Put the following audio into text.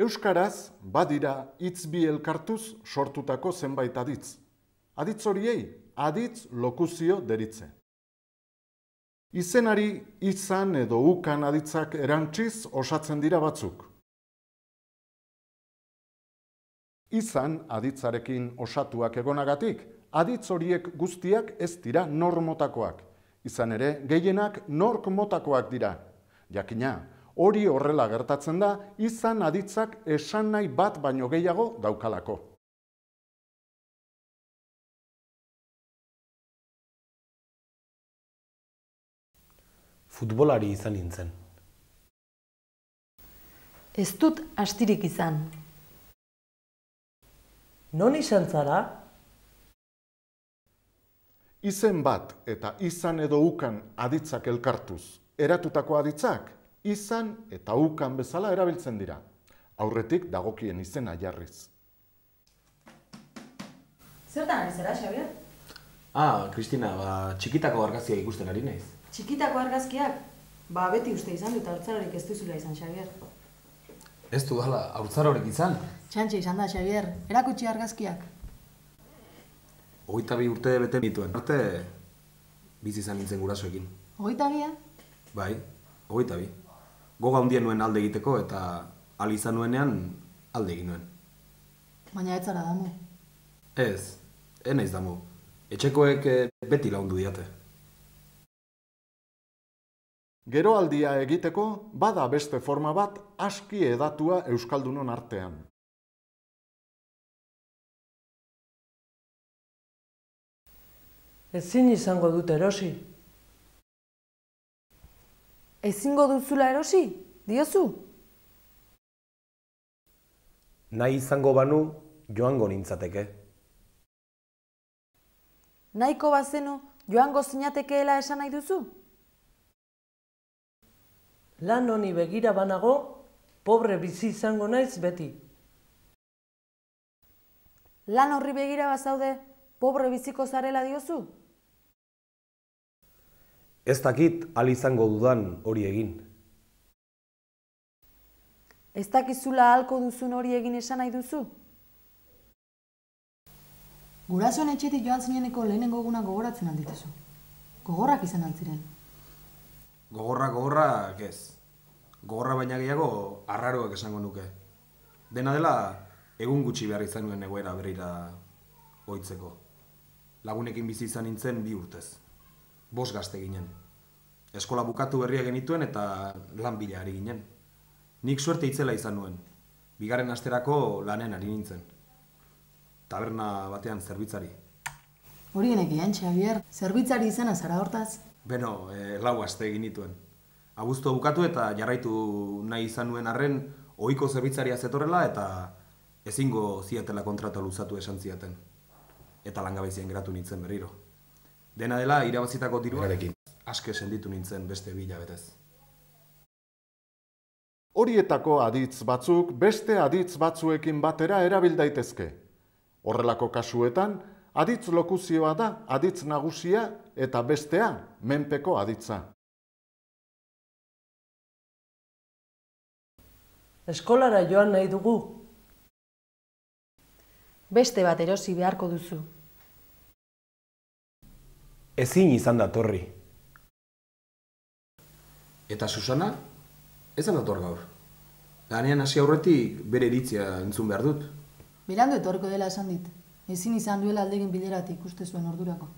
Euskaraz, badira hitz bi elkartuz sortutako zenbait aditz. Aditz horiei, aditz lokuzio deritze. Izenari izan edo ukan aditzak erantziz osatzen dira batzuk. Izan aditzarekin osatuak egonagatik, aditz horiek guztiak ez dira normotakoak. Izan ere, gehienak nork motakoak dira. Jakina, hori horrela gertatzen da, izan aditzak esan nahi bat baino gehiago daukalako. Futbolari izan nintzen. Ez dut astirik izan. Non izan zara? Izen bat eta izan edo ukan aditzak elkartuz eratutako aditzak, izan eta ukan bezala erabiltzen dira. Aurretik dagokien izena jarriz. Zertan ari zara, Xabier? Kristina, txikitako argazkia ikusten ari naiz. Txikitako argazkiak? Beti uste izan dut haurtzarorik ez duzula izan, Xabier. Ez du dala, haurtzarorik izan? Txantxe izan da, Xabier. Erakutsi argazkiak. 22 urte bete nituen. Arte, bizi izan nintzen gurasoekin. 22? Bai, 22. Goga handien nuen alde egiteko eta ahal izan nuenean alde egin nuen. Baina ez zara damu. Ez naiz damu. Etxekoek beti lagundu diate. Geroaldia egiteko, bada beste forma bat aski edatua euskaldunon artean. Ezin izango dut erosi. Ezingo duzula erosi? Diozu? Nahi izango banu, joango nintzateke. Nahiko bazenu joango zinatekeela esan nahi duzu? Lan honi begira banago, pobre bizi izango naiz beti. Lan horri begira bazaude, pobre biziko zarela diozu? Ez dakit ahal izango dudan hori egin. Ez dakizula ahalko duzun hori egin esan nahi duzu? Gurasoen etxetik joan zineneko lehenengo eguna gogoratzen aldituzu. Gogorrak izan altziren. Gogorrak ez. Gogorra baina gehiago arraroak esango nuke. Dena dela, egun gutxi behar izan nuen egoera berrira ohitzeko. Lagunekin bizi izan nintzen 2 urtez. 5 gazte ginen. Eskola bukatu berria genituen eta lan bila ari ginen. Nik suerte itzela izan nuen. 2. asterako lanen ari nintzen. Taberna batean zerbitzari. Hori genekien, Xabier, zerbitzari izena zara hortaz? Beno, 4 aste egin nituen. Abuztua bukatu eta jarraitu nahi izan nuen arren ohiko zerbitzaria zetorrela eta ezingo ziatela kontrata luzatu esan ziaten. Eta langabezien geratu nintzen berriro. Dena dela, irabazitako diruarekin aske senditu nintzen beste 2 hilabetez. Horietako aditz batzuk beste aditz batzuekin batera erabil daitezke. Horrelako kasuetan, aditz lokuzioa da aditz nagusia eta bestea menpeko aditza. Eskolara joan nahi dugu. Beste bat erosi beharko duzu. Ezin izan datorri. Eta Susana? Ez dator gaur. Lanean hasi aurretik bere iritzia entzun behar dut. Berandu etorriko dela esan dit. Ezin izan duela aldegin bileratik uste zuen ordurako.